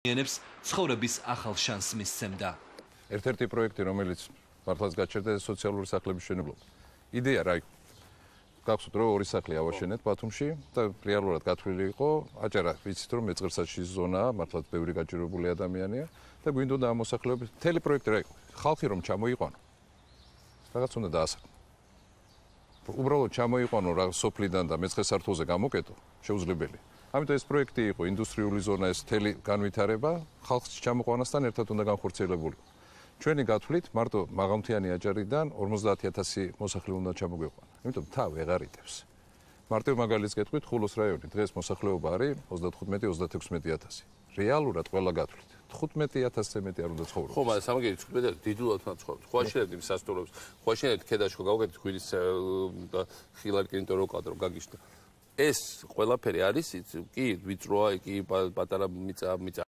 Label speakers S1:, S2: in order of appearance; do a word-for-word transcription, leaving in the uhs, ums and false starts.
S1: ენებს ცხოვრების ახალ შანსს მისცემდა.
S2: ერთ-ერთი პროექტი, რომელიც მართლაც გაჩერდა სოციალური სახლების მშენებლობა. იდეა რა იყო? გახსოვთ რომ ორი სახლი ავაშენეთ ბათუმში და რეალურად გათვლილი იყო, აჭარა ვიცით რომ მეწყერსაშის ზონაა, მართლაც ბევრი გაჭირვებული ადამიანია და გვინდოდა ამ მოსახლეობის მთელი პროექტი რა იყო? ხალხი რომ ჩამოიყვანო. რაღაც უნდა დაასახო. უბრალოდ ჩამოიყვანო რა სოფლიდან და მეცხრე სართულზე გამოკეტო, შეუძლებელია. ამიტომ ეს პროექტი იყო ინდუსტრიული ზონა, ეს მთელი განვითარება ხალხს ჩამოყვანასთან ერთად უნდა განხორციელებული. ჩვენი გათვლით მარტო მაღალმთიანი აჭარიდან ორმოცდაათი ათასი მოსახლე უნდა ჩამოგვიყვანა. იმიტომ მთა ვეღარ იტევს. მარტივ მაგალითს გეტყვით, ხულოს რაიონი დღეს მოსახლეობა არის ოცდათხუთმეტი ოცდათექვსმეტი ათასი. რეალურად ყველა გათვლით თხუთმეტი ათასზე მეტი არ უნდა ცხოვრობს.
S3: ხო, მაგრამ სამაგერი თხუთმეტი დიდულად უნდა ცხოვრობს. ხო აშენებთ იმ სასტუმროს, ხო აშენებთ ქედაშკო გავუკეთეთ ხვირის და ხილარ კინტო რო კვადრო გაგიშთა. ეს ყველაფერი არის კი ვიწროა, კი პატარა მიწა მიწა